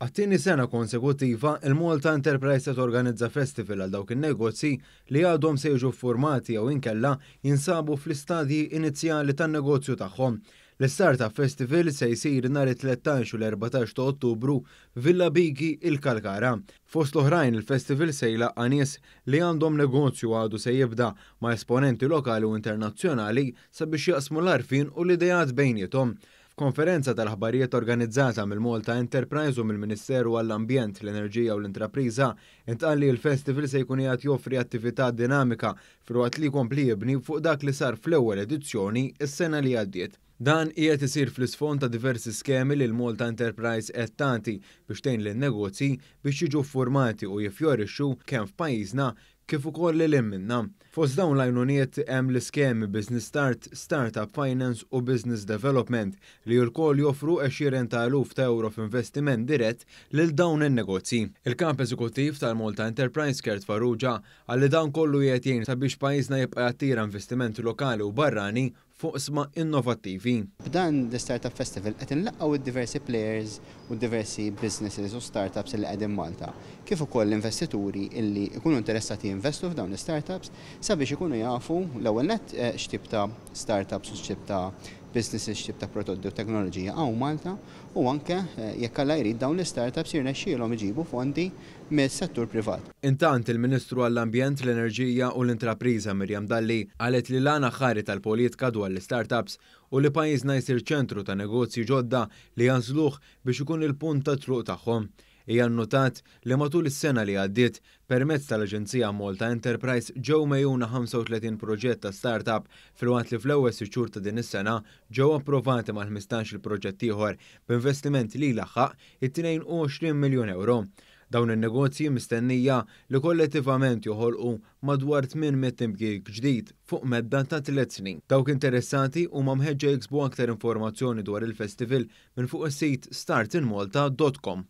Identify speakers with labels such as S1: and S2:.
S1: Għat-tieni sena konsekuttiva, il-Malta Enterprise se torganizza festival għal dawk in-negozji li għadhom se jiġu ffurmati jew inkella jinsabu fl-istadji inizjali tan-negozju tagħhom. L-Startup Festival se jsir nhar it-13 u l-14 ta' Ottubru f'Villa Bigi, il-Kalkara. Fost l-oħrajn, il-festival se jlaqqa' nies li għandhom negozju għadu se jibda ma' esponenti lokali u internazzjonali sabiex jaqsmu l-għarfien u l-ideat bejniethom. F'konferenza tal-aħbarijiet organizzata mill-Malta Enterprise u mill-Ministeru għall-Ambjent, l-Enerġija u l-Intrapriża, intqal li l-festival se jkun qiegħed joffri attività dinamika filwaqt li jkompli jibni fuq dak li sar fl-ewwel edizzjoni s-sena li għaddiet. Dan qiegħed isir fl-isfond ta' diversi skemi li l-Malta Enterprise qed tagħti biex tgħin lin-negozji biex jiġu ffurmati u jiffjorixxu kemm f'pajjiżna kif ukoll lil hinn minnha. Fost dawn l-għajnuniet hemm l-iskemi Business Start, Startup Finance u Business Development li lkoll joffru għexieren ta' eluf ta' ewro f'investiment dirett lil dawn in-negozji. Il-Kap Eżekuttiv tal-Malta Enterprise Kurt Farrugia qal li dan kollu qiegħed jgħin sabiex pajjiżna jibqa' jattira investiment lokali u barrani f'oqsma innovattivi.
S2: B'dan l-Startup Festival qed inlaqqgħu d-diversi players u d-diversi businesses u startups li qegħdin Malta, kif ukoll l-investituri illi jkunu interessati jinvestu f'dawn l-istartups sabiex ikunu jafu l-ewwel nett x'tip ta' startups u x'tip ta' businesses, x'tip ta' prodotti u teknoloġija hawn Malta u anke jekk Alla jrid dawn l-istartups jirnexxielhom iġibu fondi mis-settur privat.
S1: Intant, il-Ministru għall-Ambjent, l-Enerġija u l-Intrapriża Miriam Dalli qalet li l-għan aħħari tal-politka dwar l-istartups hu li pajjiżna jsir ċentru ta' negozji ġodda li jagħżluh biex ikun il-punt ta' tluq tagħhom. Hija nnutat li matul is-sena li għaddiet, permezz tal-Aġenzija Malta Enterprise ġew megħjuna 35 proġett ta' startup filwaqt li fl-ewwel sitt xhur ta' din is-sena ġew approvati mal-15-il proġett ieħor b'investiment li jlaħħaq it-22 miljun ewro. Dawn in-negozji mistennija li kollettivament joħolqu madwar 800 impjieg ġdid fuq medda ta' tliet snin. Dawk interessati huma mħeġġa jiksbu aktar informazzjoni dwar il-festival minn fuq is-sit startinmalta.com.